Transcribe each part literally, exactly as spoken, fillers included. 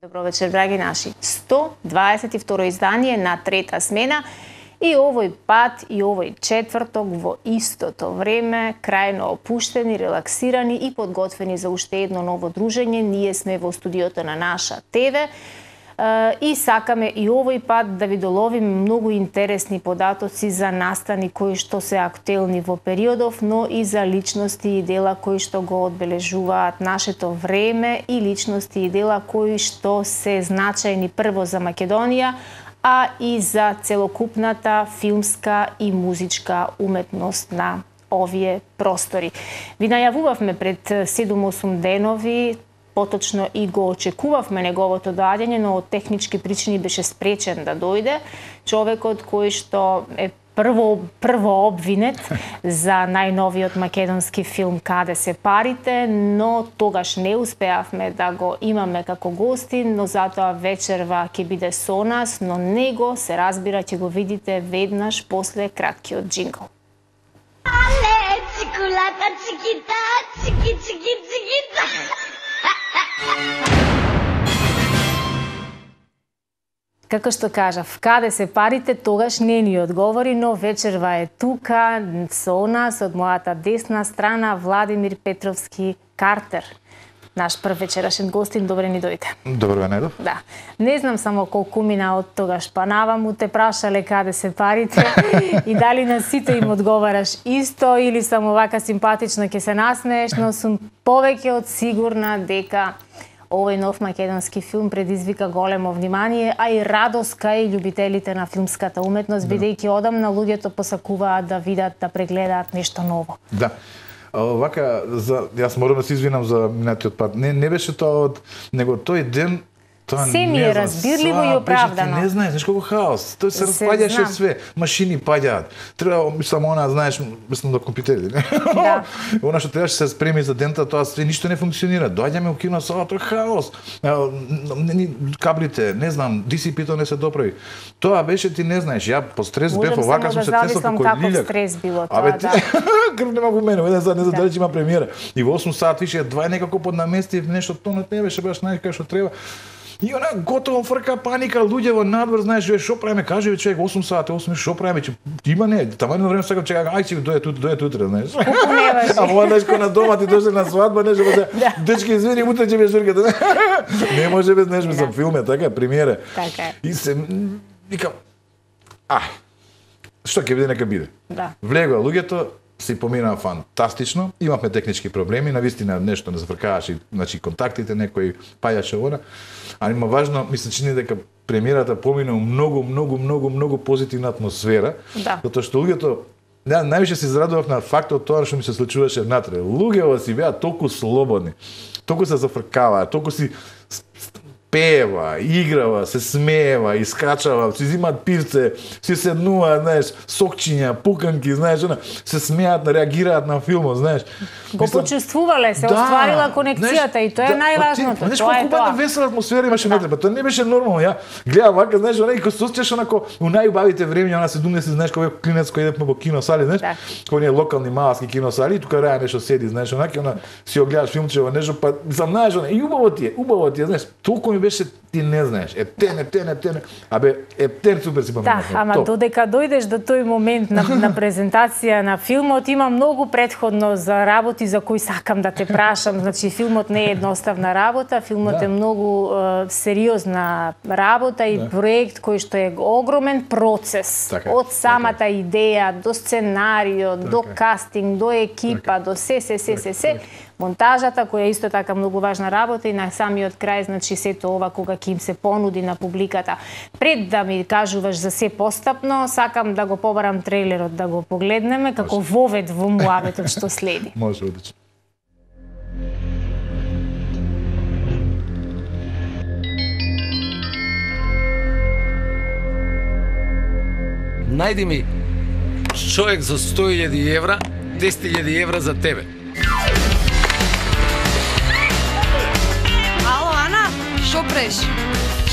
Добро вечер, драги наши. сто дваесет и второ издание на Трета смена и овој пат и овој четврток во истото време, крајно опуштени, релаксирани и подготвени за уште едно ново дружење. Ние сме во студиото на Наша ТВ и сакаме и овој пат да ви доловиме многу интересни податоци за настани кои што се актуелни во периодов, но и за личности и дела кои што го одбележуваат нашето време и личности и дела кои што се значајни прво за Македонија, а и за целокупната филмска и музичка уметност на овие простори. Ви најавувавме пред седум-осум денови, поточно и го очекувавме неговото доаѓање, но од технички причини беше спречен да дојде. Човекот кој што е прво прво обвинет за најновиот македонски филм Каде се парите, но тогаш не успеавме да го имаме како гостин, но затоа вечерва ќе биде со нас, но него се разбира ќе го видите веднаш после краткиот джингл. Але, чикулата, чикита, чики, чики, чикита. Како што кажав, каде се парите, тогаш не ни одговори, но вечерва е тука со нас, од мојата десна страна, Владимир Петровски Картер. Наш прв вечерашен гостин, добре ни дојде. Добро Недов. Да. Не знам само колку мина од тогаш па наваму те прашале каде се парите и дали на сите им одговараш исто или само вака симпатично ќе се насмееш, но сум повеќе од сигурна дека овој нов македонски филм предизвика големо внимание, а и радост кај љубителите на филмската уметност, да. Бидејќи одамна луѓето посакуваат да видат, да прегледаат нешто ново. Да. Вака, за, јас морам да се извинам за минатиот пат. Не, не беше тоа од него тој ден. Тоа се ми е разбирливо и оправдано. Беше, не знаеш, знаеш колку хаос. Тој се распаѓаше све, машини паѓаат. Треба само она, знаеш, мислам до компјутери, не? Да. Она што требаше се спреми за дента, тоа све ништо не функционира. Доаѓаме у кино сала, тоа хаос. Каблите, не знам, ди си пи-то не се доправи. Тоа беше, ти не знаеш, ја по стрес бев, овака сум се тресал како лилјак. Каков стрес било тоа, Абе, да. Крв нема во мене, еден саат не знам дали ќе има премиера. И во осум саат више два некако поднамести нешто тонот не беше баш најка што треба. И она готово фрка, паника, луѓе во надвор, знаеш, што правиме, кажи човек осум сати, осум што правиме, че има не, таму едно време сакам чекам, ај ќе дојде тут, дојде утре, знаеш. Колку не беше. А во знаеш кога на дома ти дојде на свадба, нешто да. Дечки извини, утре ќе беше журката. Не може без нешто за филме, така, премиера. Така. И се викам, ај. Што ќе биде нека биде. Да. Влегоа луѓето, се поминаа фантастично. Имавме технички проблеми, навистина нешто не зафркаваше, значи контактите некои паѓаше она. Али има важно, ми се чини дека премиерата помина многу, многу, многу, многу позитивна атмосфера. Да. Затоа што луѓето, ја највише се израдував на фактот тоа што ми се случуваше внатре. Луѓето си беа толку слободни, толку се зафркаваа, толку си пева, играва, се смеева, искачава, си зимаат пивце, си седнуваат, знаеш, сокчиња, пуканки, знаеш, она, се смеат, реагираат на филмот, знаеш. Го Мислам, почувствувале, се да, остварила конекцијата и тоа е да, најважното. Знаеш Тоа е колку тоа. бавна весела атмосфера имаше внатре, па тоа не беше нормално. Ја гледам вака, знаеш, она и ко се осеќаш онако у најубавите времиња, она седумдесети, знаеш, кога клинец кој идевме во киносали, знаеш, Да. кој не локални маласки киносали, и тука раја нешто седи, знаеш, онака, она си го гледаш филмче во нешто, па сам знаеш, она и убаво ти е, убаво ти е, знаеш, толку ми беше ти не знаеш. Ептен, ептен, ептен. Абе, ептен супер си Да, поминавме. ама Топ. додека дојдеш до тој момент на, на презентација на филмот, има многу претходно за работи за кои сакам да те прашам. Значи, филмот не е едноставна работа, филмот Да. е многу е, сериозна работа и Да. проект кој што е огромен процес. Така е, Од самата така идеја до сценарио, до е. кастинг, до екипа, до се, се, се, се, се. Монтажата, која е исто така многу важна работа и на самиот крај, значи сето ова кога ќе им се понуди на публиката. Пред да ми кажуваш за се постапно, сакам да го побарам трейлерот да го погледнеме како вовед во муабетот што следи. Може, одлично. Најди ми човек за сто илјади евра, десет илјади евра за тебе. Ало, Ана, шо преш?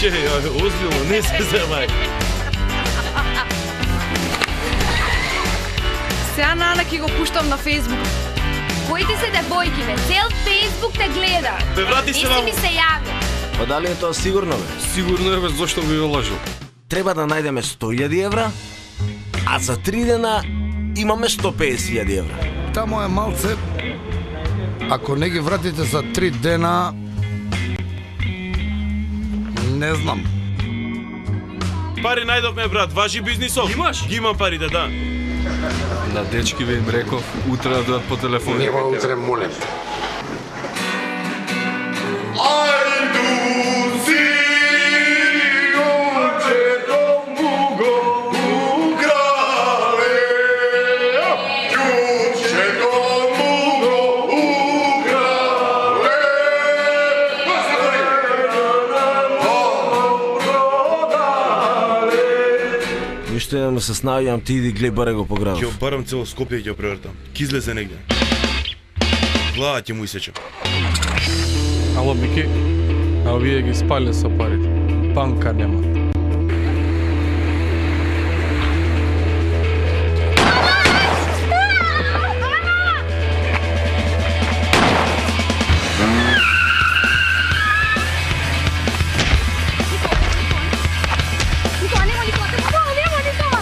Че, озбилно, не се земај. Сега на Ана ќе го пуштам на Фејсбук. Коите се девојки, бе? Цел Фејсбук те гледа. Бе, врати се Не на... си ми се јави. Па дали е тоа сигурно, бе? Сигурно е, бе, зашто би го лажил? Треба да најдеме сто илјади евра, а за три дена имаме сто педесет илјади евра. Тамо е малце. Ако не ги вратите за три дена, не знам. Пари најдовме, брат, важи бизнисов. Имаш? Ги имам парите, да. На дечки ви им реков, утре да дојат по телефон. Нема утре, молим. Ништо не се снаоѓам, ти иди глеј баре го по градот. Ќе барам цело Скопје и ќе превртам. Ки излезе негде. Глава ќе му исечам. Ало, Бики, а овие ги спале со парите. Банка нема. Никола, нема Никола, Никола, нема Никола.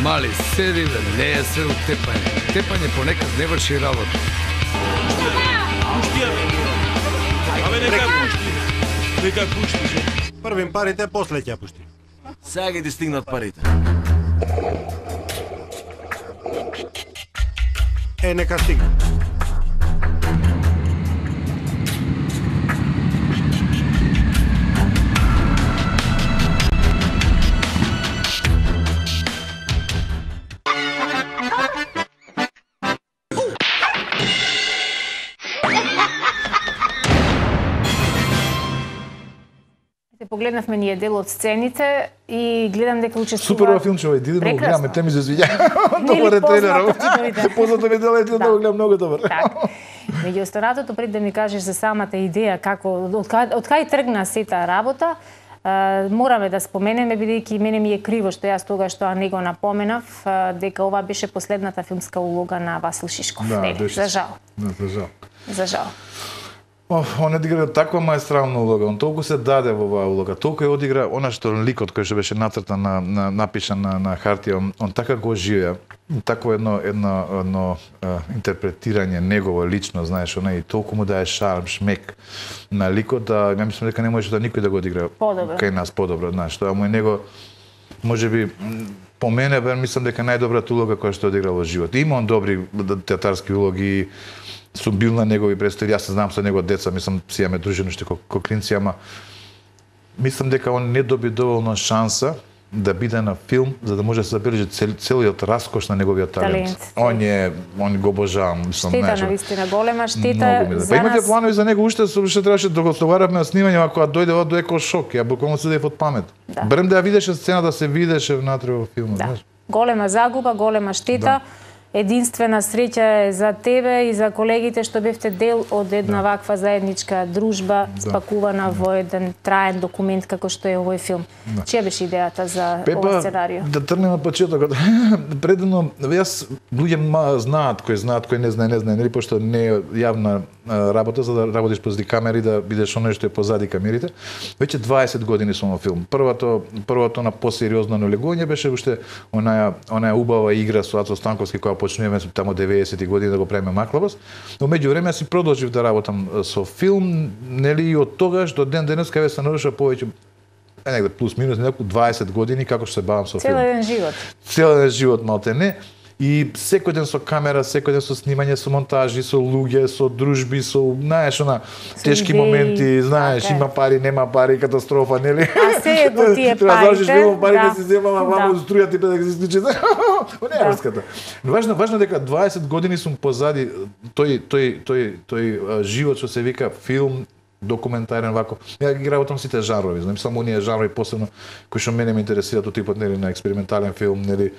Мали, седи да не е се од тепање. Тепање понекад не врши работа. Пушти ја, бе. Абе, нека ја пушти. Нека ја пушти, же. Првим парите, после ќе ја пушти. Сега ги ти стигнат парите. Е, нека стигне. Погледнавме ние дел од сцените и гледам дека учествуваат. Супер ова филмче, овој, диди да го гледаме, те ми се свиѓа. Добар е трейлерот. Познато ми дело, да го гледам многу добар. Така. Меѓу останатото, пред да ми кажеш за самата идеја, како, од кај, од кај тргна сета работа, а, мораме да споменеме, бидејќи мене ми е криво што јас тогаш тоа не го напоменав, а, дека ова беше последната филмска улога на Васил Шишков. Да, Нели, беше. за жал. Да, за жал. За жал. Оф, он одигра таква маестрална улога, он толку се даде во оваа улога, толку е одигра она што ликот кој што беше нацртан на, на напишан на, на хартија, он, он така го оживеа, такво едно едно едно а, интерпретирање негово лично, знаеш, она и толку му дае шарм, шмек на ликот, да ја мислам дека не може да никој да го одигра Подобро. кај нас подобро, знаеш, тоа му е него можеби м, по мене бе мислам дека најдобрата улога која што одигра во живот. Има он добри театарски улоги, сум бил на негови представи, јас се знам со него деца, мислам, си имаме дружено уште ко, ко клинци, ама мислам дека он не доби доволно шанса да биде на филм за да може да се забележи цел, целиот раскош на неговиот талент. Талент. Он е, он го обожавам, мислам, Штета, знаеш. навистина, голема штета Многу ми да. за Па имате нас. планови за него уште со уште требаше да го договараме на снимање, а кога дојде ова доеко шок, ја буквално седев од памет. Да. Барем да ја видеше сцена да се видеше внатре во филмот, Да. знаеш. Голема загуба, голема штета. Единствена среќа е за тебе и за колегите што бевте дел од една да. ваква заедничка дружба, да. спакувана во еден траен документ како што е овој филм. Да. Чија беше идејата за Пепа, овој сценарио? Да тргнем на почетокот. Предено, јас луѓе знаат, кои знаат, кои не знае, не знае, нели, пошто не е јавна работа за да работиш позади камери, да бидеш оној што е позади камерите. Веќе дваесет години сум во филм. Првото, првото на посериозно налегување беше уште онаја, онаја убава игра со Ацо Станковски која почнуваме тамо деветдесети години да го правиме Маклабас. Но меѓувреме си продолжив да работам со филм, нели, и од тогаш до ден денес кај се навршува повеќе е негде плюс минус неколку дваесет години како што се бавам со филм. Цел еден живот. Цел еден живот малтене. И секој ден со камера, секој ден со снимање, со монтажи, со луѓе, со дружби, со, знаеш, она тешки идеи, моменти, знаеш, така има пари, нема пари, катастрофа, нели? А се е по тие парите. Треба да завршиш филм, пари да си земала, мамо да. струја ти да се исклучи. Не е врската. Важно, важно дека дваесет години сум позади тој тој тој тој живот што се вика филм, документарен вако. Ја ги работам сите жанрови, знам само оние жанрови посебно кои што мене ме интересираат, типот нели на експериментален филм, нели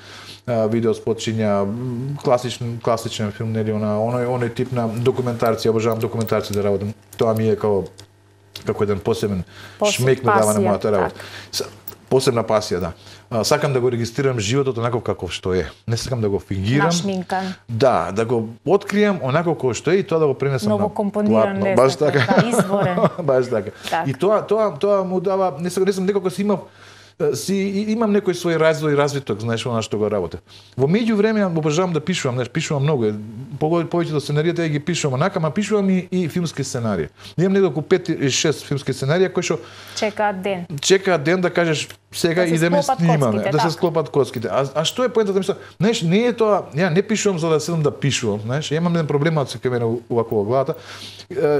видео спотчиња, класичен класичен филм, нели она оној оној тип на документарци, обожавам документарци да работам. Тоа ми е како како еден посебен Посеб, шмек ми дава на мојата работа. Так. Посебна пасија, да. А, сакам да го регистрирам животот онаков каков што е. Не сакам да го фингирам. Нашминкан. Да, да го откријам онако како што е и тоа да го пренесам Ново на компониран, платно. Баш така. Да, изворен. Баш така. Так. И тоа тоа тоа му дава, не сакам, не сам некако си имав си имам некој свој развој и развиток, знаеш, она што го работам. Во меѓувреме обожавам да пишувам, знаеш, пишувам многу. Повеќето сценариите ја ги пишувам онака, ма пишувам и, и филмски сценарии. Имам неколку пет или шест филмски сценарија кои што чекаат ден. Чекаат ден да кажеш сега да идеме снимаме, да се склопат коцките. А, а што е поентата, мислам, знаеш, не е тоа, ја не пишувам за да седам да пишувам, знаеш, ја имам еден проблем од секој мене увако во главата.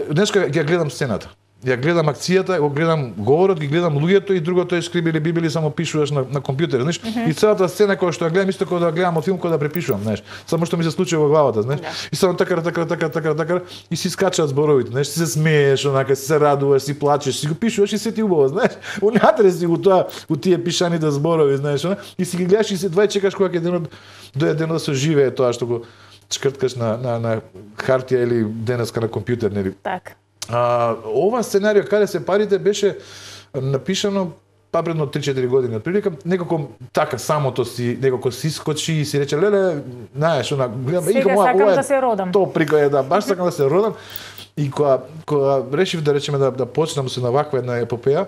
Днеска ја гледам сцената. Ја гледам акцијата, го гледам говорот, ги гледам луѓето и другото е скрибили бибили, само пишуваш на, на компјутер, знаеш. Mm -hmm. И целата сцена која што ја гледам исто како да гледам од филм кој да препишувам, знаеш. Само што ми се случи во главата, знаеш. Yeah. И само така така така така така и си скачаат зборовите, знаеш, си се смееш, онака си се радуваш, си плачеш, си го пишуваш и се ти убаво, знаеш. Унатре си го тоа, у тие пишаните зборови, знаеш, она, и си ги гледаш и се двај чекаш кога ќе денот дојде денот да се живее тоа што го чкрткаш на на на хартија или денеска на компјутер, нели. Така. А, ова сценарио каде се парите беше напишано па предно три-четири години отприлика, некако така самото си некако си скочи и си рече леле, знаеш, она гледам и како ова да се родам. То прикоја да баш сакам да се родам и кога кога решив да речеме да да почнам со на ваква една епопеја,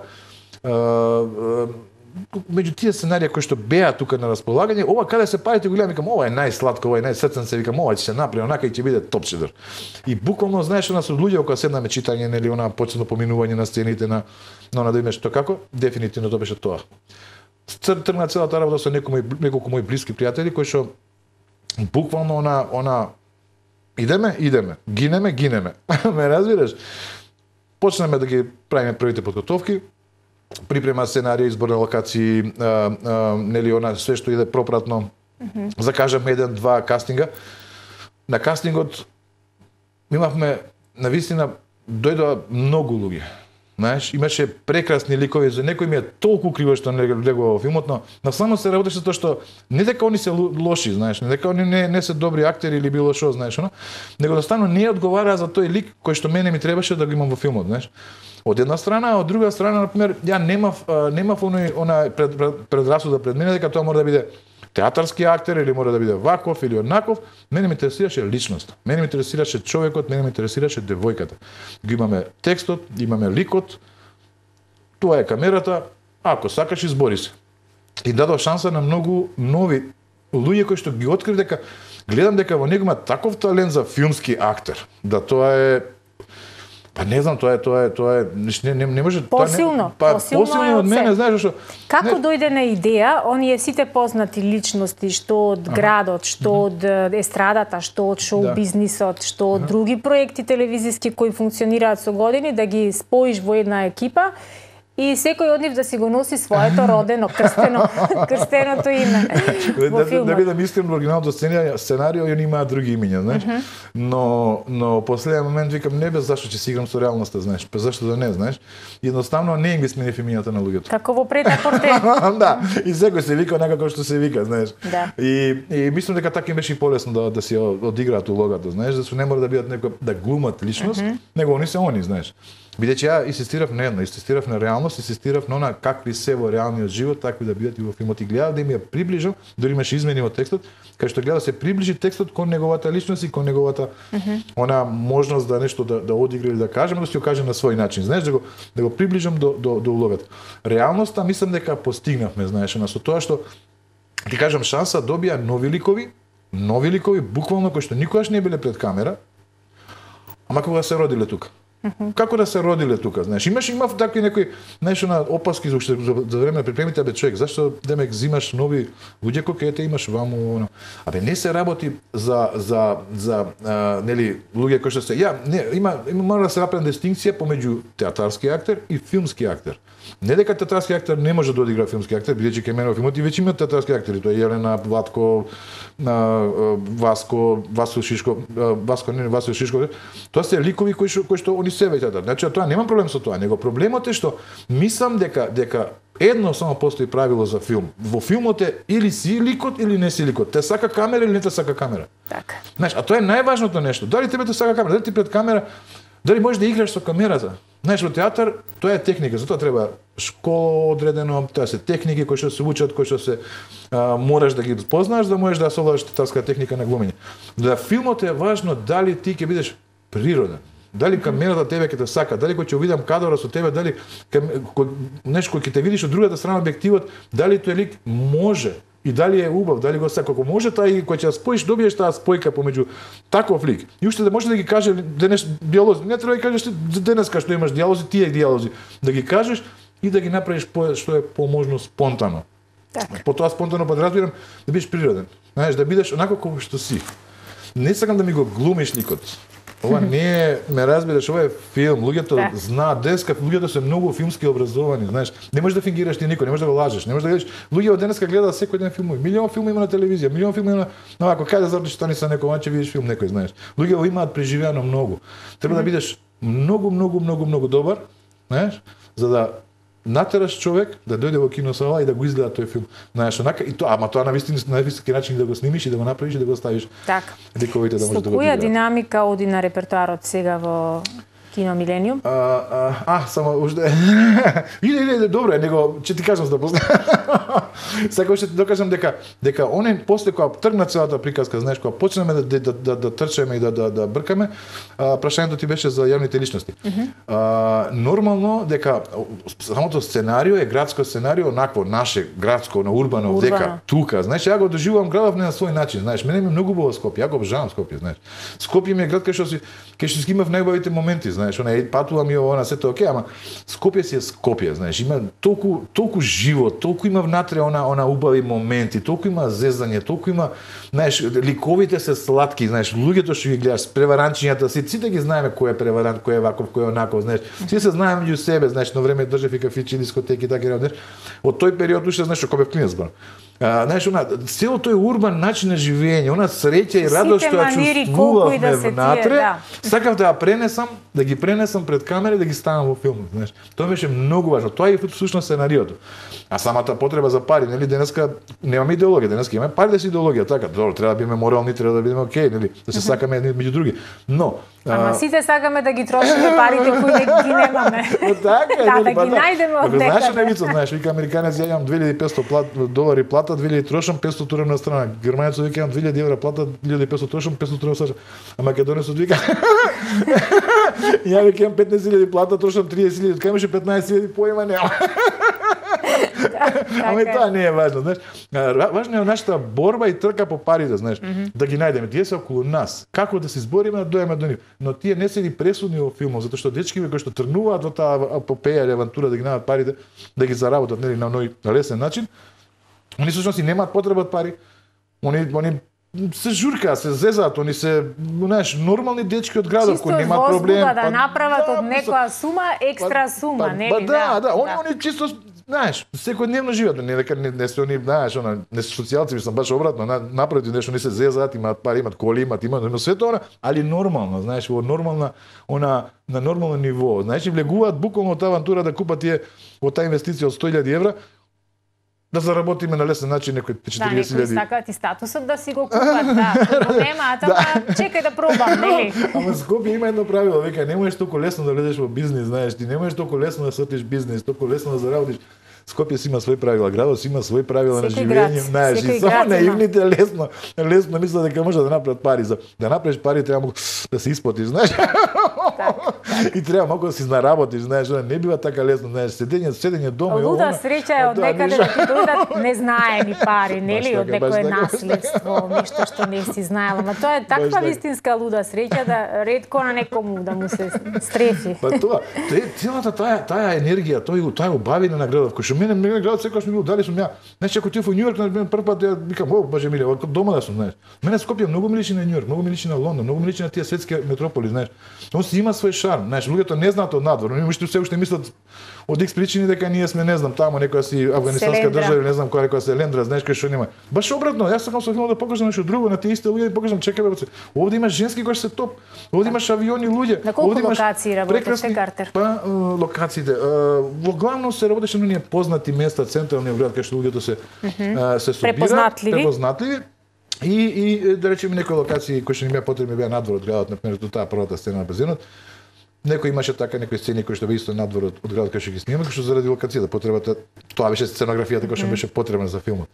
меѓу тие сценарија кои што беа тука на располагање, ова каде се парите го гледам, викам, ова е најсладко, ова е најсрцен се, викам, ова ќе се направи онака и ќе биде топчедор. И буквално знаеш она со луѓе кога седнаме читање, нели, она почетно поминување на сцените на на она да имаш тоа како, дефинитивно тоа беше тоа. Тргна целата работа со некои неколку мои блиски пријатели кои што буквално она она идеме, идеме, гинеме, гинеме. Ме разбираш? Почнеме да ги правиме првите подготовки, припрема сценарија, избор на локации, а, а, нели она све што иде пропратно. Mm-hmm. Закажаме еден, два кастинга. На кастингот имавме навистина дојдоа многу луѓе. Знаеш, имаше прекрасни ликови, за некој ми е толку криво што не легува во филмот, но на само се работеше тоа што не дека они се лоши, знаеш, не дека они не не се добри актери или било што, знаеш, но него едноставно не одговараа за тој лик кој што мене ми требаше да го имам во филмот, знаеш. Од една страна, од друга страна, например, ја немав немав оној она пред, пред, предрасуда пред мене дека тоа мора да биде театарски актер или мора да биде ваков или онаков. Мене ме интересираше личноста. Мене ме интересираше човекот, мене ме интересираше девојката. Ги имаме текстот, имаме ликот. Тоа е камерата. Ако сакаш, избори се. И дадов шанса на многу нови луѓе кои што ги открив дека гледам дека во него има таков талент за филмски актер. Да тоа е Па не знам, тоа е тоа е тоа е не не, не може посилно, па, посилно, посилно од мене, знаеш што. Како не... дојде на идеја, оние сите познати личности што од ага. градот, што од естрадата, што од шоу да. бизнисот, што од ага. други проекти телевизиски кои функционираат со години, да ги споиш во една екипа и секој од нив да си го носи своето родено, крстено, крстеното име во да, филмот. да бидам искрен, во оригиналното сценарио, сценарио ја имаат други имиња, знаеш. Uh -huh. Но но последен момент викам не бе зашто ќе си играм со реалноста, знаеш. Па зашто да не, знаеш. Едноставно не им ги сменив имињата на луѓето. Како во претапорте. Да, и секој се вика онака како што се вика, знаеш. Да. И и мислам дека така им беше и полесно да да си одиграат улогата, знаеш, да се не мора да бидат некој да глумат личност, uh -huh. него они се они, знаеш. Бидејќи ја инсистирав на едно, инсистирав на реалност, инсистирав на она какви се во реалниот живот, такви да бидат и во филмот. И гледав да им ја приближам, дори имаше измени во текстот, кај што гледа се приближи текстот кон неговата личност и кон неговата uh -huh. она можност да нешто да да одигра или да каже, но да си го каже на свој начин, знаеш, да го да го приближам до до до улогата. Реалноста мислам дека постигнавме, знаеш, на со тоа што ти кажам шанса добија нови ликови, нови ликови буквално кои што никогаш не биле пред камера, ама кога се родиле тука. Uh -huh. Како да се родиле тука, знаеш? Имаш имав такви некои, знаеш, на опаски за за, за време на припремите, бе човек, зашто демек взимаш нови луѓе кои те имаш ваму, оно. Абе не се работи за за за а, нели луѓе кои што се ја не има има мора да се направи дистинкција помеѓу театарски актер и филмски актер. Не дека театарски актер не може да одигра филмски актер, бидејќи кај мене во филмот и веќе има театарски актери, тоа е Јелена, Владко, Васко, Васо Шишко, Васко не, Васо Шишко. Тоа се ликови кои што кои што они се веќе. Значи тоа нема проблем со тоа, него проблемот е што мислам дека дека едно само постои правило за филм. Во филмот е или си ликот или не си ликот. Те сака камера или не те сака камера. Така. Знаеш, а тоа е најважното нешто. Дали тебе те сака камера, дали ти пред камера, дали можеш да играш со камерата. Знаеш, во театар тоа е техника, затоа треба школа одредено, тоа се техники кои што се учат, кои што се а, мораш да ги познаеш да можеш да совладаш театарска техника на глумење. За филмот е важно дали ти ќе бидеш природен. Дали камерата тебе ќе те сака, дали кога ќе видам кадра со тебе, дали нешто кој ќе те видиш од другата страна објективот, дали тој лик може и дали е убав, дали го сака, ако може таа и кога ќе ја споиш, добиеш таа спојка помеѓу таков лик. И уште да може да ги каже денес диалози, не треба да ги кажеш денеска што имаш диалози, тие диалози, да ги кажеш и да ги направиш по, што е поможно спонтано. Така. По тоа спонтано подразбирам да бидеш природен. Знаеш, да бидеш онако како што си. Не сакам да ми го глумиш ликот. Ова не е, ме разбираш, ова е филм. Луѓето да. знаат, денеска луѓето се многу филмски образовани, знаеш. Не можеш да фингираш ти никој, не можеш да го лажеш, не можеш да гледаш. Луѓето денеска гледаат секој ден филмови. Милион филми има на телевизија, милион филми има на ако кај да задржиш тони са некој, маче видиш филм некој, знаеш. Луѓето имаат преживеано многу. Треба да бидеш многу, многу, многу, многу добар, знаеш, за да натераш човек да дојде во киносала и да го изгледа тој филм. Знаеш, онака и тоа, ама тоа на вистина на вистински начин да го снимиш и да го направиш и да го ставиш. Така. Ликовите да може да го Со која одиграат. динамика оди на репертоарот сега во Кино Милениум? А, а, а само уште. Иде, иде, добро, него ќе ти кажам за да после. Сакам ќе ти докажам дека дека оне после кога тргна целата приказка, знаеш, кога почнеме да да да, да трчеме и да да да бркаме, а, прашањето ти беше за јавните личности. Uh -huh. а, нормално дека самото сценарио е градско сценарио, онакво наше градско, на урбано, Урбано. дека тука, знаеш, ја го доживувам градов не на свој начин, знаеш, мене ми е многу убаво Скопје, ја го обожавам Скопје, знаеш. Скопје ми е град кај што си кај што си имав најубавите моменти, знаеш, она е патувам и она сето окей, ама Скопје си е Скопје, знаеш, има толку толку живот, толку има внатре она она убави моменти, толку има зезање, толку има, знаеш, ликовите се сладки, знаеш, луѓето што ги гледаш, преваранчињата, си сите ги знаеме кој е преварант, кој е ваков, кој е онаков, знаеш. Сите се знаеме меѓу себе, знаеш, на време држев и кафичи, дискотеки, така и знаеш. Од тој период уште знаеш кога бев клинец бил. А, знаеш, она, цело тој урбан начин на живење, она среќа и радост што ја чувствувавме да се внатре, тие, да. сакав да ја пренесам, да ги пренесам пред камера и да ги ставам во филмот, знаеш. Тоа беше многу важно. Тоа е всушност сценариото. А самата потреба за пари, нели, денеска немаме идеологија, денеска имаме пари да си идеологија, така, добро, треба да бидеме морални, треба да бидеме окей, нели, да се сакаме едни меѓу други. Но Ама сите сакаме да ги трошиме парите кои не ги немаме. Така е, да, нели, да ги најдеме од некаде. Знаеш некаде. невица, знаеш, вика американец ја имам две илјади и петстотини плат, долари плата, две илјади трошам, петстотини турам на страна. Германецот вика имам две илјади евра плата, две илјади и петстотини трошам, петстотини турам сажам. А македонецот вика ја вика имам петнаесет илјади плата, трошам триесет илјади, кај имаше петнаесет илјади поима нема. Ама и тоа не е важно, знаеш. Важно е нашата борба и трка по парите, знаеш, mm -hmm. да ги најдеме. Тие се околу нас. Како да се избориме да дојдеме до нив. Но тие не се ни пресудни во филмот, затоа што дечкиве кои што тргнуваат во таа епопеја или авантура да ги најдат парите, да ги заработат нели на ној лесен начин, они всушност и немаат потреба од пари. Они они се журка, се зезаат, они се, знаеш, нормални дечки од градот кои немаат проблем. Чисто да направат од некоја сума екстра сума, нели? Да, да, они они чисто, знаеш, секојдневно живеат, не дека не, не се они, знаеш, она, не се социјалци, мислам баш обратно, на, направи нешто, не се зезаат, имаат пари, имаат коли, имаат, имаат, имаат све тоа, али нормално, знаеш, во нормална, она, на нормално ниво, знаеш, и влегуваат буквално од авантура да купат тие, од таа инвестиција од сто илјади евра, да заработиме на лесен начин некои четириесет илјади. Да, некои сакаат и статусот да си го купат, да. Го немаат, ама чекај да пробам, нели? Ама Скопје има едно правило, вика, не можеш толку лесно да влезеш во бизнис, знаеш, ти не можеш толку лесно да сотиш бизнис, толку лесно да заработиш. Скопје си има свои правила, градот си има свои правила на живење, знаеш, и само наивните лесно, лесно мислат дека може да направат пари. За да направиш пари треба да се исплатиш, знаеш. И треба малку да си наработиш, знаеш, не бива така лесно, знаеш, седење, седење дома и луда среќа е од некаде да ти дојдат незнаеми пари, нели, од некое наследство, нешто што не си знаела, ама тоа е таква вистинска луда среќа да ретко на некому да му се стрефи. Па тоа, целата таа таа енергија, тој таа убавина на градот, кој што мене мене градот секогаш ми го дали сум ја. Знаеш, ако ти во Њујорк на прв пат ја викам, о, боже миле, од дома да сум, знаеш. Мене Скопје многу ми личи на Њујорк, многу ми личи на Лондон, многу ми личи на тие светски метрополи, знаеш. Он си има свој шарм, знаеш, луѓето не знаат од надвор, они уште се уште мислат од икс причини дека ние сме, не знам, таму некоја си афганистанска држава, не знам која некоја се лендра, знаеш кај што нема. Баш обратно, јас сакам со филмот да покажам нешто друго на тие исти луѓе да покажам, чекај бе, овде има женски кои се топ, овде имаш авиони луѓе, на колку локации работите, Картер? Па локациите, во главно се работеше на оние познати места, централни град кај што луѓето се се собираат, препознатливи, препознатливи. И, и да речеме некои локации кои што ни беа потребни беа надвор од градот, например, до таа првата сцена на базенот. Некои имаше така некои сцени кои што беа исто надвор од, од градот кај што ги снимаме, кои што заради локацијата потребата, тоа беше сценографијата која што беше потребна за филмот.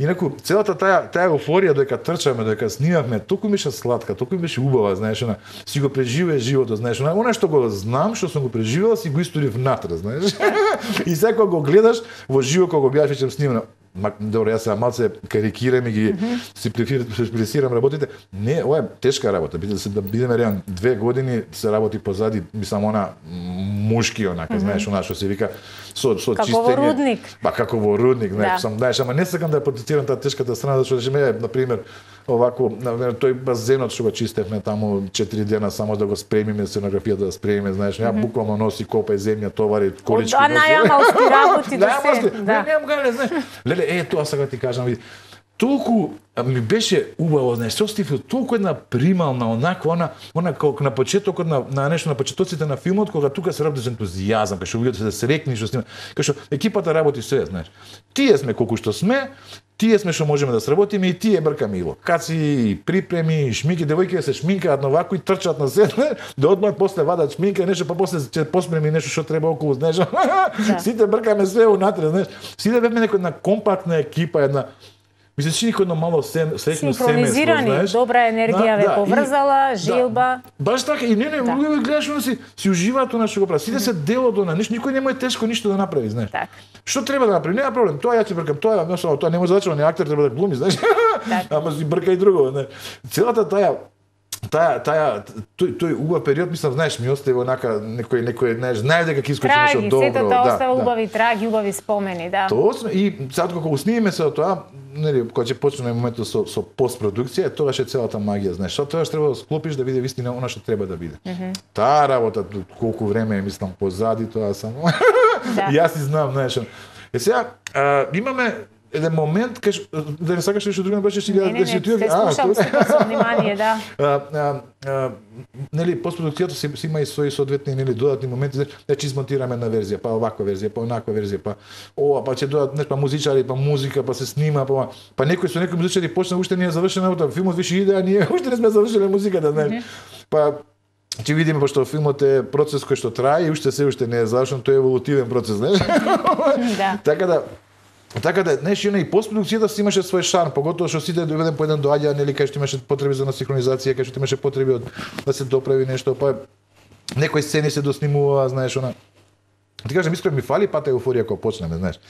Инаку целата таа таа еуфорија дека трчаме, дека снимавме, толку ми беше сладка, толку ми беше убава, знаеш, она си го преживеа животот, знаеш, она, она што го знам, што сум го преживела, си го истори внатре, знаеш. И сега го гледаш во живо кога го беаш веќе снимано. Добро, јас сега малце карикирам и ги симплифицирам работите. Не, ова е тешка работа. Да бидеме реални, две години се работи позади, мислам, она мушки, онака, mm -hmm. знаеш, она што се вика со со како чистење. Како во рудник. Па како во рудник, знаеш, да. сам, знаеш, ама не сакам да ја потицирам таа тешката страна, зашто речеме, на пример, овако, навер, тој базенот што го чистевме таму четири дена само да го спремиме, сценографијата да спремиме, знаеш, ја mm -hmm. буквално носи копај земја, товари, колички. А најамалски работи да се. Да, немам гале, знаеш. Леле, е, тоа сега ти кажам, види. Толку ми беше убаво, знаеш, се остив толку една примална, онаква, она, она како на почетокот на, на нешто на почетоците на филмот, кога тука се работи со ентузијазам, кај што луѓето се срекни што снима, кај што екипата работи све, знаеш. Тие сме колку што сме, тие сме што можеме да сработиме и тие бркаме и локации, припреми, шминки, девојките се шминкаат новако и трчаат на седне, да одмат после вадат шминка, нешто па после ќе поспреми нешто што треба околу, знаеш. Да. Сите бркаме све унатре, знаеш. Сите бевме некоја една компактна екипа, една мислиш че никој едно мало среќно семејство, знаеш. Добра енергија ве поврзала, желба. Баш така, и не, не, луѓе гледаш, она си, си уживаат она што го прави. Сите се дел од она, никој не му е тешко ништо да направи, знаеш. Так. Што треба да направи? Нема проблем. Тоа ја ти бркам, тоа, тоа, тоа не може да зачува, не актер треба да глуми, знаеш. Ама си брка и друго, знаеш. Целата таа таа таа тој тој убав период, мислам, знаеш, ми остави онака некој некој, знаеш, знае дека ќе искочи нешто добро. Траги, сето тоа остава убави траги, убави спомени, да. Тоа и сега кога го снимиме се тоа, нели, кога ќе почне моментот со со постпродукција, тоа е целата магија, знаеш, што тоа треба да склопиш да биде вистина она што треба да биде. Mm -hmm. Таа работа колку време е, мислам, позади тоа само. Да. Јас и знам, знаеш. Е сега а, имаме еден момент кај да не сакаш нешто друго, беше си да се слушам со внимание, да. А, а, а, нели постпродукцијата си, си има и своји соодветни нели додатни моменти, значи измонтираме една верзија, па оваква верзија, па онаква верзија, па ова, па ќе додат нешто, па музичари, па музика, па се снима, па па некој со некој музичари почна уште не е завршена работа, филмот више иде, а ние уште не сме завршиле музиката, знаеш. Mm -hmm. Па ќе видиме, пошто филмот е процес кој што трае и уште се уште не е завршен, тој е еволутивен процес, знаеш. Да. Така да Така да, знаеш, и постпродукцијата си имаше свој шарм, поготово што сите доведен по еден доаѓа, нели, кај што имаше потреби за синхронизација, кај што имаше потреби од да се доправи нешто, па некои сцени се доснимува, знаеш, она. Ти кажам, искрено ми фали пата еуфорија кога почнеме, знаеш.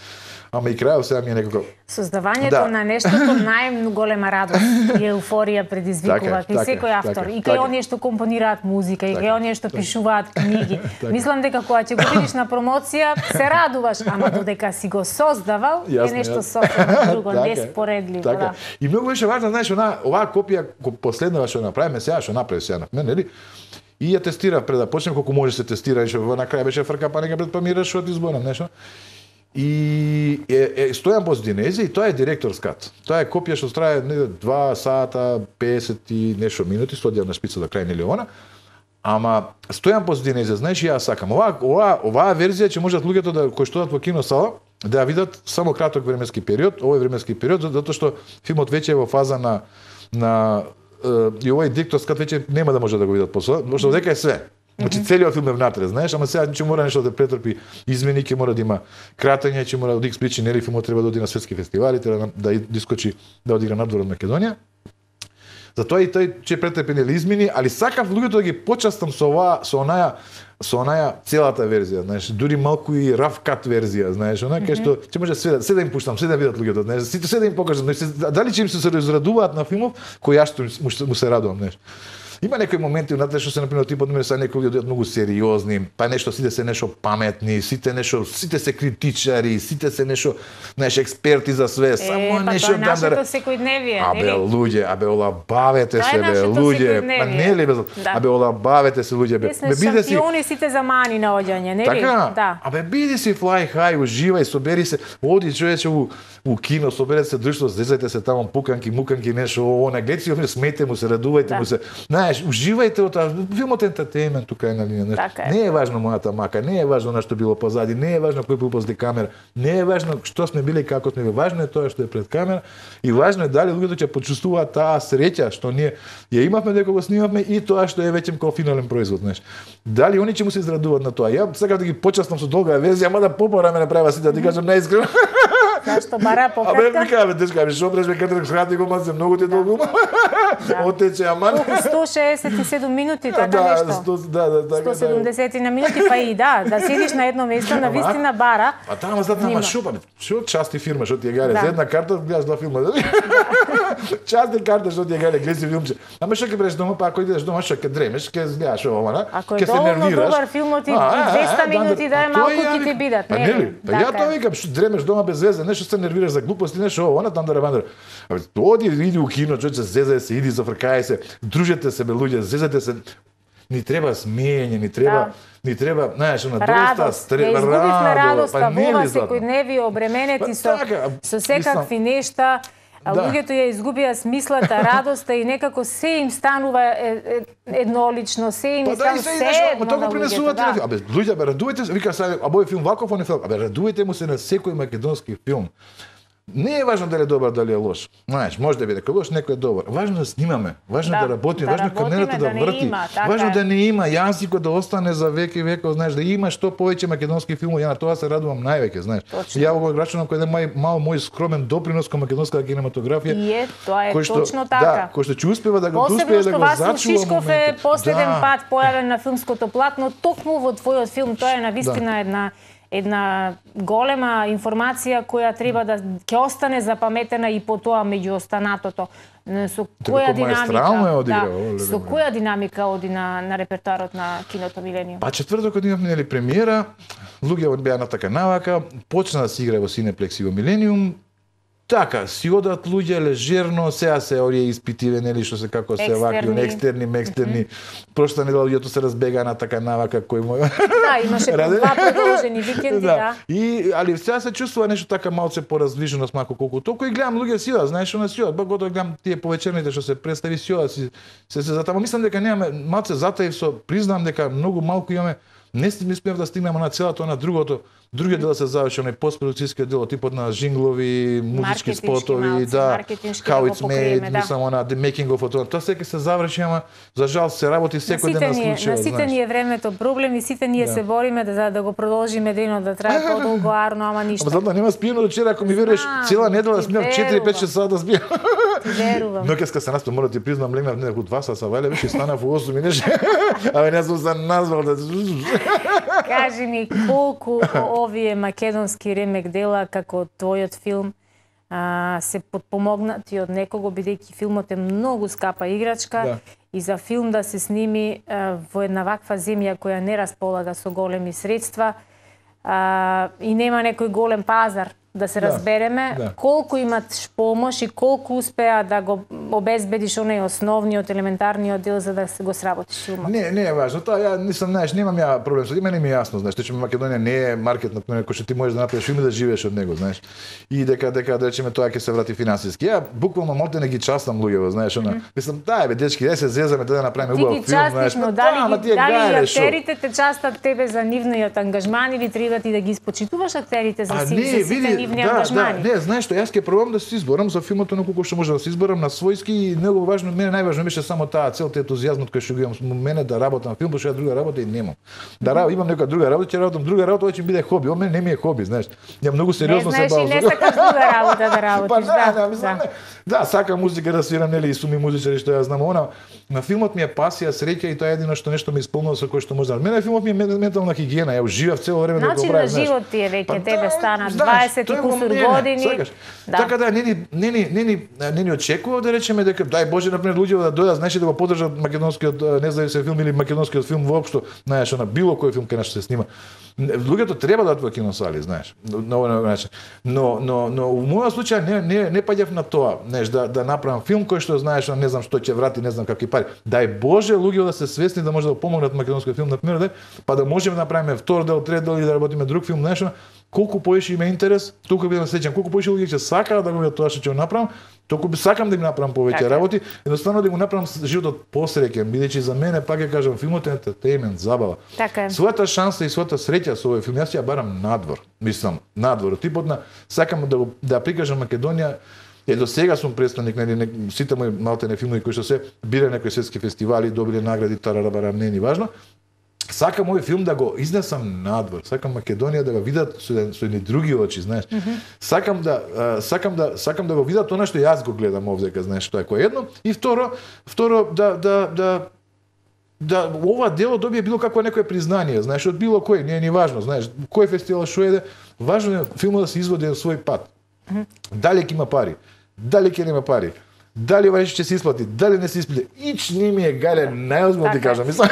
ама и крајот сега ми е некако Создавањето Да. на нештото најголема радост и еуфорија предизвикува Така е, кај така е, секој автор, така е, и така кај е. оние што компонираат музика, и Така кај е, оние што така е. пишуваат книги. Така. Мислам дека кога ќе го видиш на промоција, се радуваш, ама додека си го создавал, е Јасно, нешто јасно. сосема друго, Така е, неспоредливо, така е. да. И многу беше важно, знаеш, она оваа копија ко- последнава што направиме сега, што направи сега на мен, нели? И ја тестирав пред да почнем колку може се тестира, и што во на крај беше фрка, па нека пред па ми решува ти зборам нешто. И е, е стојам по Динези и тоа е директорс кат. Тоа е копија што трае не два сата песет и нешто минути, студија на шпица до крај нели она. Ама стојам по Динези, знаеш, и јас сакам. Ова ова оваа верзија ќе можат луѓето да кои што одат во киносала да ја видат само краток временски период, овој временски период, затоа што филмот веќе е во фаза на на е, и овој директорс кат веќе нема да може да го видат после, зашто дека е све. Значи целиот филм е внатре, знаеш, ама сега ќе мора нешто да претрпи измени, ќе мора да има кратење, ќе мора да икс причини, нели филмот треба да оди на светски фестивали, треба да дискочи да одигра надвор од Македонија. Затоа и тој ќе претрпи нели измени, али сакав луѓето да ги почастам со оваа, со онаја со онаја целата верзија, знаеш, дури малку и раф кат верзија, знаеш, она кај што ќе може све да се да им пуштам, се да видат луѓето, знаеш, сите се да им покажам, знаеш, дали ќе им се израдуваат на филмов кој јас што му, му се радувам, знаеш. Има некои моменти внатре што се например типот мене са некои луѓе многу сериозни, па нешто сите се нешто паметни, сите нешто сите се критичари, сите се нешто знаеш експерти за све, само Е, па нешто тоа е нашето секојдневие, Абе нели? луѓе, абе олабавете Тоа е се бе, нашето луѓе, па секојдневие. нели бе, Да. абе олабавете се луѓе бе. Ние сме Бе биде си шампиони сите за мани на оѓање, нели? Така, Да. абе биди си fly high, уживај, собери се, оди човече у, у кино, соберете се друштво, зезајте се таму пуканки, муканки, нешто, она, гледате си, смете му се, радувајте Да. му се. Знаеш, уживајте од таа, филмот е ентертејмент тука е на линија, нешто. Така е. Не е важно мојата мака, не е важно на што било позади, не е важно кој бил позади камера, не е важно што сме биле и како сме биле, важно е тоа што е пред камера и важно е дали луѓето ќе почувствуваат таа среќа што ние ја имавме дека го снимавме и тоа што е веќе како финален производ, знаеш. Дали они ќе му се израдуваат на тоа? Ја сакам да ги почастам со долга верзија, ама да попора ме направа сите, да ти кажам наискрено. Зашто бара Абе, пократка? ми кажа, дечка, ми шо преш ме кадрак схрати го мазе, многу ти е долго. Отече, ама. Колку сто шеесет и седум минути, така Да, нешто? сто, да, да, така. сто седумдесет на минути, па и да, да седиш на едно место, на вистина бара. А тама зад нама Внима. шо, па, шо части фирма, шо ти е гаре, Да. за една карта гледаш два филма. Части карта, шо ти е гаре, гледаš филмче. Ама шо ќе береш дома, па ако идеш дома, шо ќе дремеш, ќе гледаш ова, на? Ако е ќе се доволно нервираш. добар филмот и А, а, двеста а, минути да е па малку тоа ја ќе ти викам. бидат, Па нели? нели? Па ја Така тоа е. викам, што дремеш дома без везе, нешто се нервираш за глупости, нешто ова, на тандара бандара. Абе, оди, иди у кино, човече, зезај се, иди зафркај се, дружете се бе луѓе, зезате се. Ни треба смеење, ни треба, Да. ни треба, знаеш, на доста Радост, стре, ја изгубивме радоста па во ова нели златно? секојдневие обременети Па со така, со секакви нешта. А Да. луѓето ја изгубија смислата, радоста и некако се им станува е, е, еднолично, се им Па да, станува и се се изнашо, едно ма тоа на го луѓето. принесува Да. телефон. Абе, луѓе, бе, радувате се, вика сега, а бој филм ваков, он е филм. Абе, радувате му се на секој македонски филм. Не е важно дали е добар, дали е лош. Знаеш, може да биде некој лош, некој е добар. Важно е да снимаме, важно е Да, да работиме, да важно е работиме, камерата да да не врти, има, така важно е. да не има јазикот да остане за веки и веков, знаеш, да има што повеќе македонски филмови. Ја на тоа се радувам највеќе, знаеш. Точно. Ја го рачунам кој е мај, мал мој скромен допринос кон македонската кинематографија. И е, тоа е кој што, точно така. Да, кој што ќе успева да го Посебно успее да што го Васил зачува Шишков е моментот. последен Да. пат појавен на филмското платно, токму во твојот филм. Тоа е навистина една една голема информација која треба да ќе остане запаметена и по тоа меѓу останатото. Со која како маестрално е динамика, одиграл, да, оле, со леле. која динамика оди на, на репертоарот на киното Милениум? Па четвртокот имавме нели премиера, луѓе беа на така навака, почна да се игра во Синеплекс и во Милениум. Така, си одат луѓе лежерно, сега се орие испитиве, нели, што се како се ваки, Екстерни. екстерни, мекстерни. Прошта недела луѓето се разбега на така навака кој мој. Да, имаше Раде? два продолжени викенди, да. И али сега се чувствува нешто така малце поразвиженост, малку колку толку и гледам луѓе сила, знаеш, она сила, ба готово гледам тие повечерните што се представи сила, си се се затама мислам дека немаме малце затаив со признам дека многу малку имаме. Не сме успеав да стигнеме на целото на другото. Другиот дел се заврши онај постпродукцијскиот дел, типот на жинглови, музички Маркетиншки спотови, малце, да, маркетиншки how да го it's покриеме, made, да. мислам она the making of it. Тоа секој се заврши, ама за жал се работи На секој ден сите на ние, случај. на сите ни е времето проблем и сите ние Да. се бориме да, за да го продолжиме денот да трае подолго арно, ама ништо. Ама затоа нема спиено до вчера, ако ми вериш, Знам, цела недела ти смеав четири пет шест сата да спијам. верувам. Ноќеска се наспа, мора да ти признам, легнав некако два саса вале, веќе станав во осум и нешто. Абе не сум се назвал да. Кажи ми колку овие македонски ремек дела како твојот филм а, се подпомогнати од некого, бидејќи филмот е многу скапа играчка, да. И за филм да се сними а, во една ваква земја која не располага со големи средства а, и нема некој голем пазар, да се да, разбереме, да. Колку имаш помош и колку успеа да го обезбедиш оној основниот, елементарниот дел за да се го сработиш филмот? Не, не е важно. Тоа ја нисам, знаеш, немам ја проблем со мене, ми е јасно, знаеш, че Македонија не е маркет на кој што ти можеш да направиш филм и да живееш од него, знаеш. И дека дека да речеме тоа ќе се врати финансиски. Ја буквално малте не ги частам луѓето, знаеш, она. Mm -hmm. Мислам, дај бе дечки, дај се зезаме да направиме убав филм, знаеш. Но дали ги, дали актерите те частат тебе за нивниот ангажман или треба ти да ги испочитуваш актерите за сите нивни ангажмани? Не, знаеш што, јас ќе пробам да се изборам за филмот на колку што може да се изборам на својски и многу важно, мене најважно беше само таа цел, тој ентузијазмот кој што го имам со мене да работам филм, пошто ја друга работа и немам. Да работам, имам нека друга работа, ќе работам друга работа, ќе биде хоби. О мене не ми е хоби, знаеш. Ја многу сериозно се бавам. Не знаеш и не сакаш друга работа да работиш, па, да. Да, мислам, да. Да, сакам музика да свирам, нели, и суми музичари што ја знам, она на филмот ми е пасија, среќа и тоа е едино што нешто ме исполнува со кој што може. Мене филмот ми е ментална хигиена, ја уживав цело време да го правам. Начин на живот ти е веќе, тебе стана дваесет и кусур години. Да. Така да не ни не ни не ни не ни очекува да речеме дека дај Боже например луѓе да дојдат, знаеш, да го поддржат македонскиот независен филм или македонскиот филм воопшто, знаеш, на било кој филм кај нас се снима. Луѓето треба да отвоа киносали, знаеш, на овој начин. Но но но во мојот случај не не не паѓав на тоа, знаеш, да да направам филм кој што знаеш, не знам што ќе врати, не знам какви пари. Дај Боже луѓето да се свесни да може да помогнат македонскиот филм например, да, па да можеме да направиме втор дел, трет дел и да работиме друг филм, знаеш, колку поише има интерес, толку бидам среќен, колку поише луѓе ќе сакаат да го видат тоа што ќе го направам, толку би сакам да ми направам повеќе така работи, едноставно да го направам животот посреќен, бидејќи за мене пак ќе кажам филмот е ентертејмент, забава. Така е. Својата шанса и својата среќа со овој филм јас ја барам надвор, мислам, надвор, типот на сакам да го да прикажам Македонија. Е, до сега сум представник на не, сите мои малтене филмови кои што се бира некои светски фестивали, добили награди, тарарабара, не ни важно. Сакам овој филм да го изнесам надвор. Сакам Македонија да го видат со, со едни други очи, знаеш. Mm -hmm. Сакам да а, сакам да сакам да го видат она што јас го гледам овдека, знаеш, тоа е кој едно. И второ, второ да да да да ова дело добие било какво некое признание, знаеш, од било кој, не е ни важно, знаеш, кој фестивал што еде, важно е филмот да се изводи на свој пат. Mm -hmm. Дали ќе има пари, дали ќе нема пари, дали вајше ќе се исплати, дали не се исплати, ич не ми е гале, најозбилно ти кажам, мислам.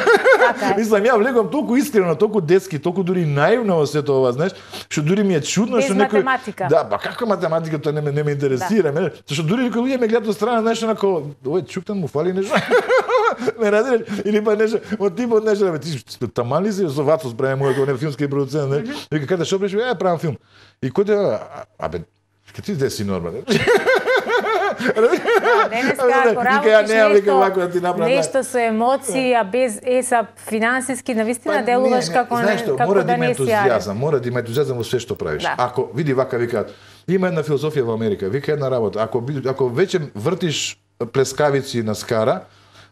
Мислам, ја влегувам толку искрено, толку детски, толку дури наивно во сето ова, знаеш, што дури ми е чудно што некој математика. Да, ба каква математика, тоа не ме не ме интересира, да. Мене, што дури некои луѓе ме гледаат од страна, знаеш, онако, ој чуктан му фали нешто. Ме разбираш, или па нешто, од типот нешто, бе, ти таман ли си со Вацос прави мојот не филмски продуцент, не? Вика каде што преш, ја правам филм. И кој да, абе, ке ти деси нормално. Денеска, ако работиш нешто, нешто со емоции, а без еса финансиски, навистина делуваш како не, како да не си ентузијазам, мора да има ентузијазам во све што правиш. Да. Ако види вака викаат, има една филозофија во Америка, вика една работа, ако ако веќе вртиш плескавици на скара,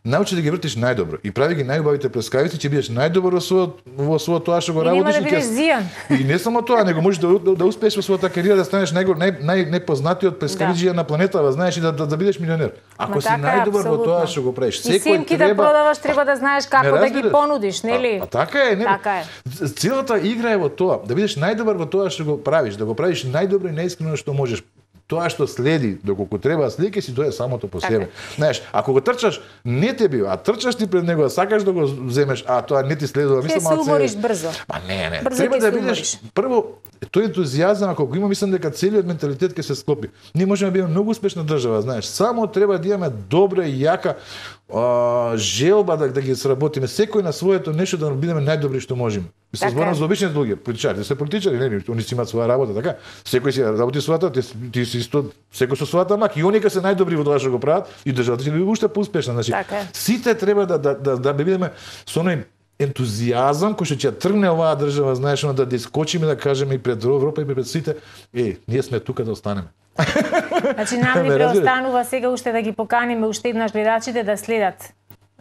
научи да ги вртиш најдобро и прави ги најубавите плескавици, ќе бидеш најдобар во својот во својот тоа што го работиш и, да и не само тоа, него можеш да, да, да успееш во својата кариера да станеш нај нај нај непознатиот плескавиџија да. На планетава, знаеш, и да, да, да бидеш милионер. Ако Ма си така, најдобар во тоа што го правиш, секој и симки треба... да продаваш, треба да знаеш како да ги понудиш, нели? А, а така е, нели? Така е. Целата игра е во тоа, да бидеш најдобар во тоа што го правиш, да го правиш најдобро и најискрено што можеш. Тоа што следи, доколку треба слики си дое самото по себе. Знаеш, ако го трчаш, не те бива, а трчаш ти пред него, сакаш да го земеш, а тоа не ти следува, мислам, малце. Ќе се умориш брзо. Па не, не. Брзо треба да бидеш прво тој ентузијазам, ако го има, мислам дека целиот менталитет ќе се склопи. Ние можеме да бидеме многу успешна држава, знаеш. Само треба да имаме добра и јака а, желба да, да ги сработиме. Секој на своето нешто да бидеме најдобри што можеме. Се зборам за обичните луѓе, политичари, се политичари, не, они си имаат своја работа, така? Секој си работи својата, ти, ти си исто, секој со својата мак, и они кога се најдобри во тоа што го прават, и државата ќе биде уште поуспешна, значи. Така. Сите треба да да да да бидеме со оној ентузијазам кој што ќе тргне оваа држава, знаеш, да да искочиме да кажеме и пред Европа и пред сите, е, ние сме тука да останеме. Значи нам ни преостанува сега уште да ги поканиме уште еднаш гледачите да следат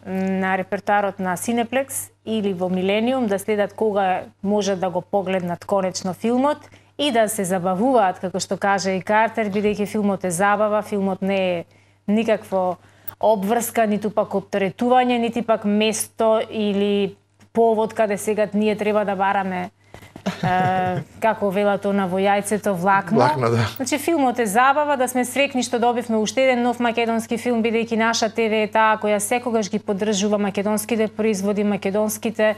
на репертуарот на Cineplex или во Милениум, да следат кога може да го погледнат конечно филмот и да се забавуваат, како што каже и Картер, бидејќи филмот е забава, филмот не е никакво обврска, ниту пак оптеретување, нити пак место или повод каде сега ние треба да бараме е, како велат она во јајцето влакно. Влакно, да. Значи филмот е забава, да сме срекни што добивме уште еден нов македонски филм, бидејќи наша ТВ е таа која секогаш ги поддржува македонските производи, македонските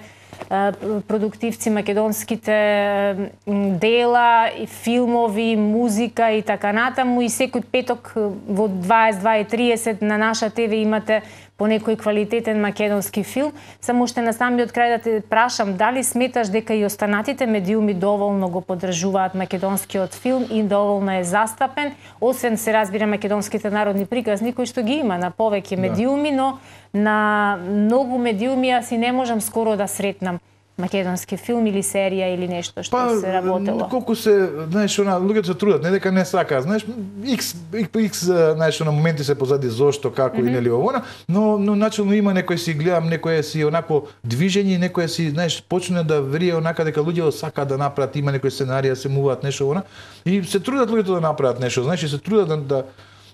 продуктивци, македонските дела, и филмови, музика и така натаму, и секој петок во дваесет два и триесет на наша ТВ имате по некој квалитетен македонски филм. Само уште на самиот крај да те прашам, дали сметаш дека и останатите медиуми доволно го поддржуваат македонскиот филм и доволно е застапен, освен се разбира македонските народни приказни кои што ги има на повеќе медиуми, но на многу медиуми јас и не можам скоро да сретнам македонски филм или серија или нешто што па, се работело. Колку се, знаеш, она луѓето се трудат, не дека не сакаат, знаеш, X X знаеш, на моменти се позади зошто, како mm -hmm. и нели овона, но но начелно има некој си гледам, некој си онако движење, некој си, знаеш, почне да врие онака дека луѓето сакаат да направат, има некој сценарија, се муваат нешто она и се трудат луѓето да направат нешто, знаеш, и се трудат да да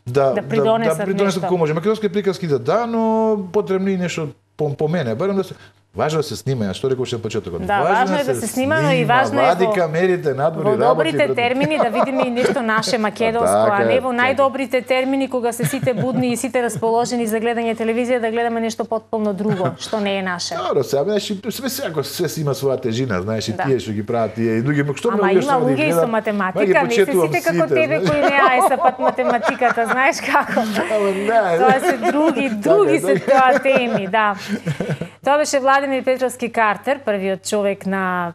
да да придонесат, да, да придонесат како може. Македонски приказки да да, но потребно и нешто по, по мене, барем да се важно да се снима, што реков ше почетокот. Да, важно е да се снима, но и важно е вади камерите надвор во добрите термини да видиме и нешто наше македонско, а не во најдобрите термини кога се сите будни и сите расположени за гледање телевизија да гледаме нешто потполно друго, што не е наше. Добро, сега знаеш, све секако све си има своја тежина, знаеш, и да. тие што ги прават тие и други, што ама има луѓе и со математика, не се сите како тебе кои не ајсапат математиката, знаеш како. Ама не. Тоа се други, други се тоа теми, да. Тоа беше Владимир Петровски Картер, првиот човек на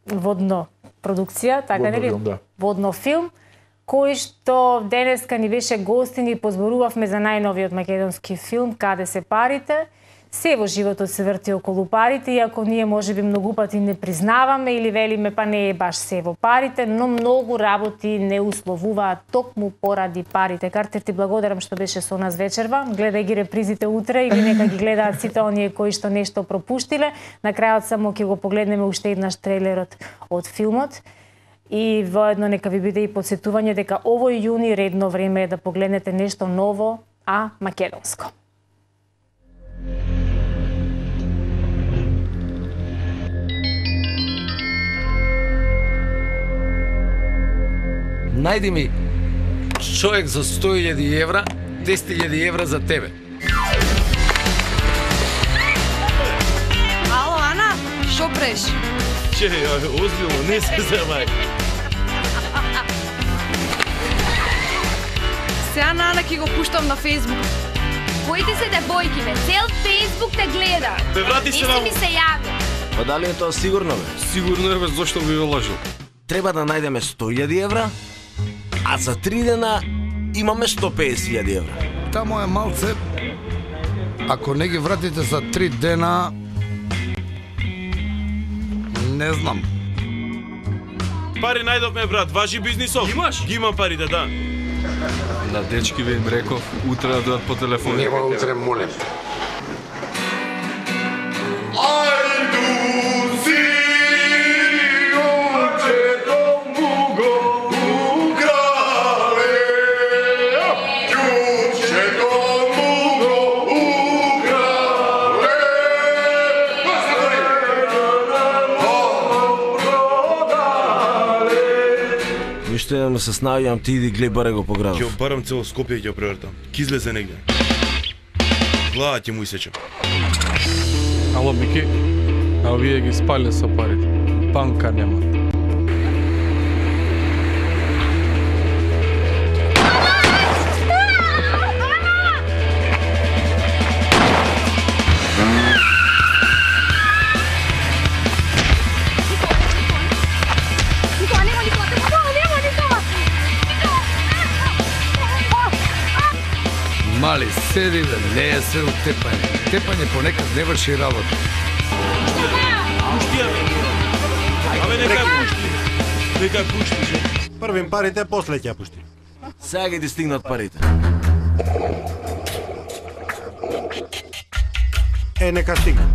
водно продукција, така нели? Да. Водно филм, кој што денеска ни беше гостин и позборувавме за најновиот македонски филм Каде се парите. Се во животот се врти околу парите, иако ние можеби многу пати не признаваме или велиме па не е баш се во парите, но многу работи не условуваат токму поради парите. Картер, ти благодарам што беше со нас вечерва. Гледај ги репризите утре или нека ги гледаат сите оние кои што нешто пропуштиле. На крајот само ќе го погледнеме уште еднаш трейлерот од филмот. И воедно нека ви биде и подсетување дека овој јуни редно време е да погледнете нешто ново, а македонско. Најди ми човек за сто илјади евра, десет илјади евра за тебе. Ало, Ана, шо преш? Че, озбилно, не се замај. Сега на Ана ќе го пуштам на Фейсбук. Боите се девојки, бе, цел Фейсбук те гледа. Бе, врати се на... ми се јави. Па дали е тоа сигурно, бе? Сигурно е, бе, зошто би ве лажил? Треба да најдеме сто илјади евра, а за три дена имаме сто песет илјади евра. Тамо е малце. Ако не ги вратите за три дена, не знам. Пари најдовме, брат, важи бизнисов. Имаш? Ги имам парите, да. На дечки ви им реков, утре да дојат по телефон. Нема утре, молем. Ништо едно да се снаоѓам, ти иди глеј баре го по градот. Ќе барам цело Скопје и ќе превртам. Ки излезе негде. Глава ќе му исечам. Ало, Мики, а вие ги спале со парите. Банка нема. Мали, седи да не е се од тепање. Тепање понекад не врши работа. Пушти, абе. Абе, нека пушти. Нека пушти. Првим парите, после ќе пушти. Сега ги ти стигнат парите. Е, нека стигне.